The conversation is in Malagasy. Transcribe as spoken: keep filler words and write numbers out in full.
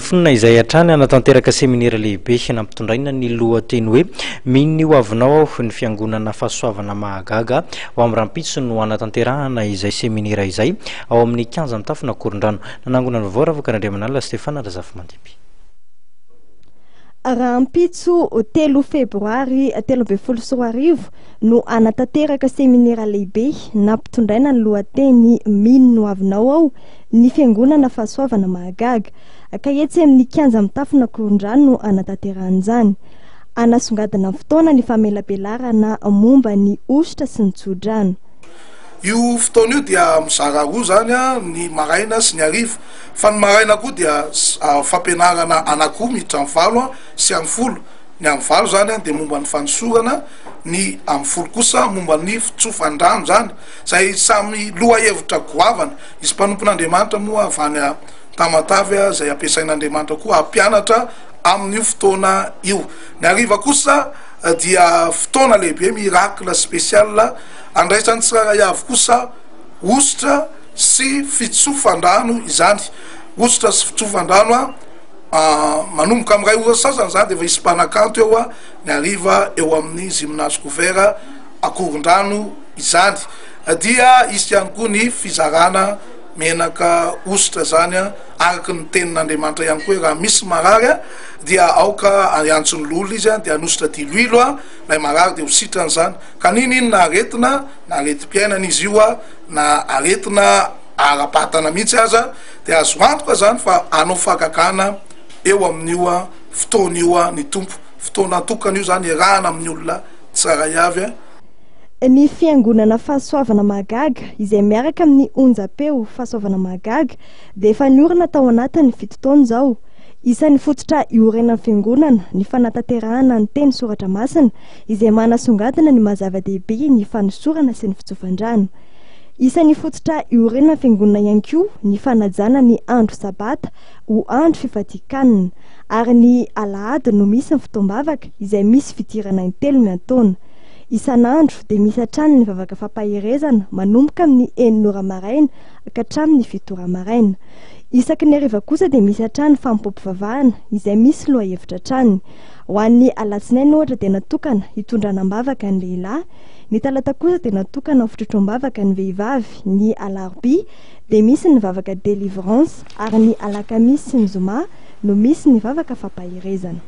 Fonona izay hatrany hanatanteraka seminera lehibe nampitondraina ny lohateny hoe "Mino ny ho avinao aho" ny Fiangonana Fahasoavana Mahagaga. Ho amin'ny rahampitso no hanatanterahana izay seminera izay ao amin'ny kianja mitafona Ankorondrano. Nanangona ny vaovao Ravaka Andriamanalina Stefana Razafimandimby. Rahampitso telo febroary telo amby folo sy roa arivo no anatanteraka seminera lehibe nampitondraina ny lohateny "Mino ny ho avinao aho" ny Fiangonana Fahasoavana Mahagaga, ka etsy amin'ny kianja mitafona Ankorondrano no anatanterahana. Anasongadina ny fotoana ny famelabelarana momba ny hosotra sy ny tsodrano. Io fotoana io dia mizara roa zany a, ny maraina sy ny ariva, fa ny maraina koa dia fampianarana anakoa miditra amy valo a sy amy folo. Ny amy valo zany a de momba ny fanosorana, ny amy folo kosa momba ny fitsofan-drano zany, zay samy loha hevitra goavana. Izy mpanompon'Andriamanitra moa avy any a Tamatavy a, zay ampiasain'Andriamanitra koa ampianatra amin'io fotoana io. Ny ariva kosa dia fotoana lehibe, miracle spécial, andraisan'ny tsirairay avy kosa hosotra sy fitsofan-drano izany. Hosotra sy fitsofan-drano a, manomboka amy ray ora sasany zany de efa isy mpanakanto eo a ny ariva eo amin'ny gymnase couvert Ankorondrano izany. Dia isy ihany koa ny fizarana menaka hosotra zany a, araky ny tenin'Andriamanitra ihany koa hoe raha misy marary a dia aoka iantsony lolo izy a, de anosotra diloilo a lay marary de ho sitrany zany. Ka nini inona aretina, na aretim-piainana izy io a, na aretina ara-batana mihitsy aza, de azo antoka zany fa anao fahagagana eo amin'io a fotoana io a ny Tompo. Fotoana atokana io zany iarahana amin'ny olona tsirairay avy a. Ny Fiangonana Fahasoavana Mahagaga, izay miaraka amin'ny onjam-peo Fahasoavana Mahagaga, dia efa niorina tao anatin'ny fito taona izao. Isan'ny fototra iorenan'ny fiangonana ny fanatanterahana ny teny soratra masina, izay manasongadina ny mahazava-dehibe ny fanosorana sy ny fitsofan-drano. Isan'ny fototra iorenan'ny fiangonana ihany koa ny fanajana ny andro sabata ho andro fifadian-kanina, ary ny alahady no misy ny fotoam-bavaka izay misy fidirana intelo miantaona. Isan'andro dia misy hatrany ny vavaka fampaherezana manomboka amin'ny enina ora maraina ka hatramin'ny fito ora maraina. Isaky ny hariva kosa dia misy hatrany fanompoam-pivavahana izay misy loha hevitra hatrany. Ho an'ny alatsinainy ohatra dia natokana hitondrana am-bavaka ny lehilahy, ny talata kosa dia natokana ho fitrotroam-bavaka ny vehivavy, ny alarobia dia misy ny vavaka délivrance, ary ny alakamisy sy ny zoma no misy ny vavaka fampaherezana.